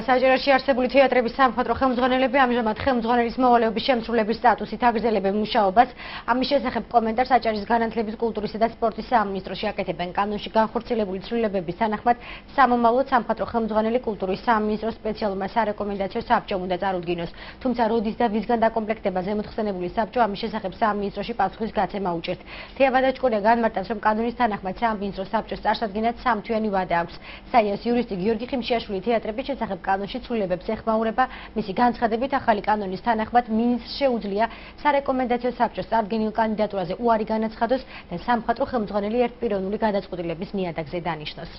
საჯარაში არსებული თეატრების სამხატვრო ხელმძღვანელები ამჟამად ხელმძღვანელის მოვალეობის შემსრულების სტატუსით აგრძელებენ მუშაობას. ამის შესახებ კომენტარს აჭარის განათლების, კულტურისა და სპორტის სამინისტროში აკეთებენ. კანონში განხორციელებული ცვლილებების თანახმად სამომავლოდ სამხატვრო ხელმძღვანელი კულტურის სამინისტროს სპეციალურმა სარეკომენდაციო საბჭომ უნდა წარუდგინოს. თუმცა როდის და ვისგან დაკომპლექტება ზემოთხსენებული საბჭო ამის შესახებ სამინისტროში პასუხის გაცემა უჭერთ. თეა ვადაჩკორია განმარტავს, რომ კანონის თანახმად სამინისტრო საბჭოს წარსადგენად 3 თვიანი ვადა აქვს. საიას იურისტი გიორგი ხიმშიაშვილი თეატრების შესახებ კანონში ცვლილებებს ეხმაურება. მისი განცხადებით, ახალი კანონის თანახმად მინისტრს შეუძლია სარეკომენდაციო საბჭოს წარდგენილ კანდიდატურაზე უარი განაცხადოს და სამხატვრო ხელმძღვანელი ერთპიროვნული გადაწყვეტილების ნიადაგზე დანიშნოს.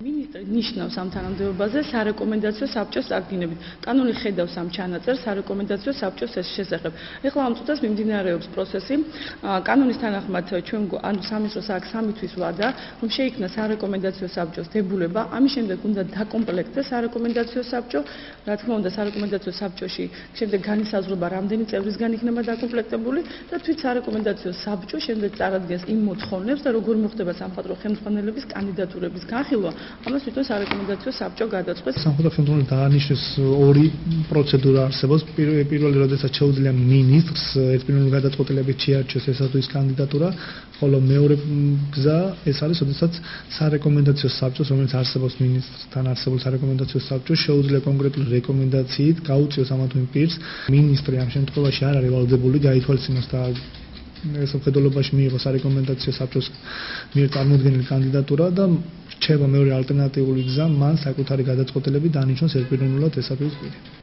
მინისტრი ნიშნავს ამ თანამდებობაზე სარეკომენდაციო საბჭოს წარდგინებით. კანონი ხედავს ამ ჩანაწერს სარეკომენდაციო საბჭოს შესახებ. ეხლა ამ წუთას მიმდინარეობს პროცესი. კანონის თანახმად ჩვენ სამინისტროს აქვს 3 თვის ვადა, რომ შეიქმნა სარეკომენდაციო საბჭოს დებულება. ამის შემდეგ უნდა დაკომპლექტდეს სარეკომენდაციო საბჭო. რა თქმა უნდა, სარეკომენდაციო საბჭოში შემდეგ განისაზღვრება, რამდენი წევრისგან იქნება დაკომპლექტებული და თვით სარეკომენდაციო საბჭო შემდეგ წარადგენს იმ მოთხოვნებს და როგორ მოხდება სამხატვრო ხელმძღვანელების კანდიდატურების განხილვა. ამას თვითონ სარეკომენდაციო საბჭო გადაწყვეტს. სამხატვრო ხელმძღვანელი დაანიშნეს 2 პროცედურა არსებობს. პირველი, როდესაც შეუძლია მინისტრს ერთპიროვნული გადაწყვეტილებით შეარჩიოს ესათვის კანდიდატურა, ხოლო მეორე გზა ეს არის, როდესაც სარეკომენდაციო საბჭოს, რომელიც არსებობს მინისტრთან არსებულ სარეკომენდაციო საბჭოს, შეუძლია კონკრეტული რეკომენდაციით გაუწიოს ამა თუ იმ პირს. მინისტრი ამ შემთხვევაში არ არის ვალდებული გაითვალისწინოს და ეს მხედველობაში მიიღო სარეკომენდაციო საბჭოს მიერ წარმოდგენილი კანდიდატურა და რჩება მეორე ალტერნატიული გზა, მან საკუთარი გადაწყვეტილებით დანიშნოს ერთპიროვნულად ესათვის პირი.